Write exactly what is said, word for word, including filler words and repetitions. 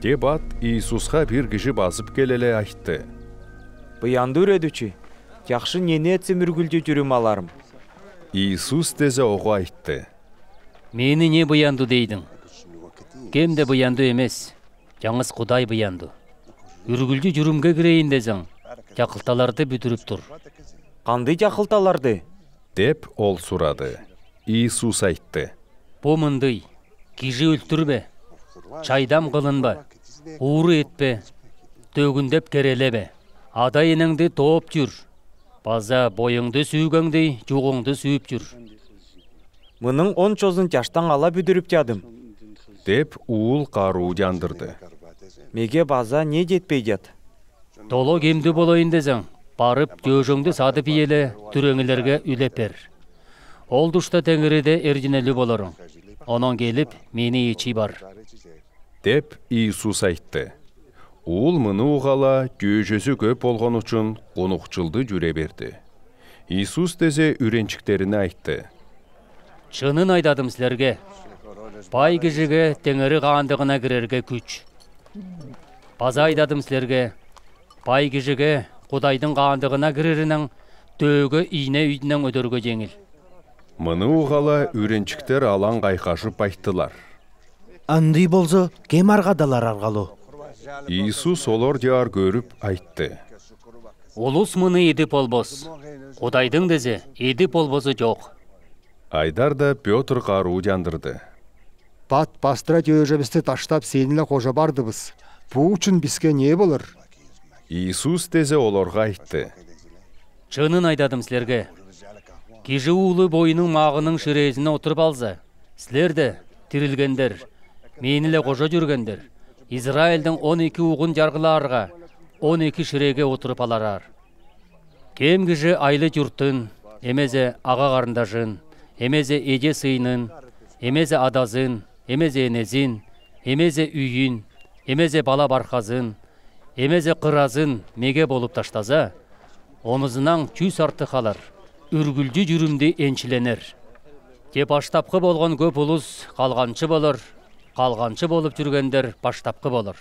Деп ат Иисусха бир кижи базып келеле айтты: «Буянды, Үредүчи, чахшы нени этсем үргүлчү чүрүм аларым?» Иисус тезе ога айтты: «Мени не буянды дейдиң? Кем де буянды эмес, чаңгыс Кудай буянды. Үргүлчү чүрүмге кирейин дезең, чакылталарды бүдүрүп тур». «Кандый чакылталарды?» — деп ол сурады. Иисус айтты: «Бу мындый: кижи өлтүрбе, чайдам кылынба, ууру этпе, төгүндеп керелебе, ада-энеңди тооп чүр, база бойуңду сүүгеңдей чугуңду сүүп чүр». «Мының он чозун чаштаң ала бүдүрүп чадым», — деп, уул каруу чандырды. «Меге база не четпей чат?» «Тола кемдиг болайын дезең, барып, чөөжеңди садып иеле, түреңилерге үлеп бер. Ол тушта Теңириде эрзинелиг боларың. Онон келип, мени ичи бар», — деп Иисус айтты. Уул мыны угаала, чөөжезү көп болгон учун, кунукчулду чүре берди. Иисус тезе үренчиктерине айтты: «Чынын айдадым силерге: бай кижиге Теңири Каандыгына кирерге күч. База айдадым силерге: бай кижиге Кудайдың Каандыгына киреринен төөге ийне үйдүнен өдөрге чеңил». Мыны угаала, үренчиктер алаң кайхашып айттылар: «Андый болза, кем аргадалар аргалуу?» Иисус олар чаар көрүп айтты: «Улус мыны идип болбас, Кудайдың тезе идип болбазы чок». Айдар да Пётр каруу чандырды: «Пат пастыра чөөжебисти таштап, сени-ле кожа бардыбыс. Бу учун биске не болур?» Иисус тезе оларга айтты: «Чынын айдадым силерге: кижи уулу бойнуң магынын ширээзине отуруп алза, силер де, тирилгендер, мени-ле кожа чүргендер, Израильдың он эки угун чаргылаарга, он эки ширеге отуруп аларар. Кем кижи айлы чуртун, эмезе ага-карындажын, эмезе эже-сыйнын, эмезе адазын, эмезе энезин, эмезе үйүн, эмезе бала-бархазын, эмезе кыразын меге болуп таштаза, онузунаң чүс артых алар, үргүлчү чүрүмдү энчиленер. Че баштапкы болган көп улус калганчы болур, калганчы болуп чүргендер баштапкы болур».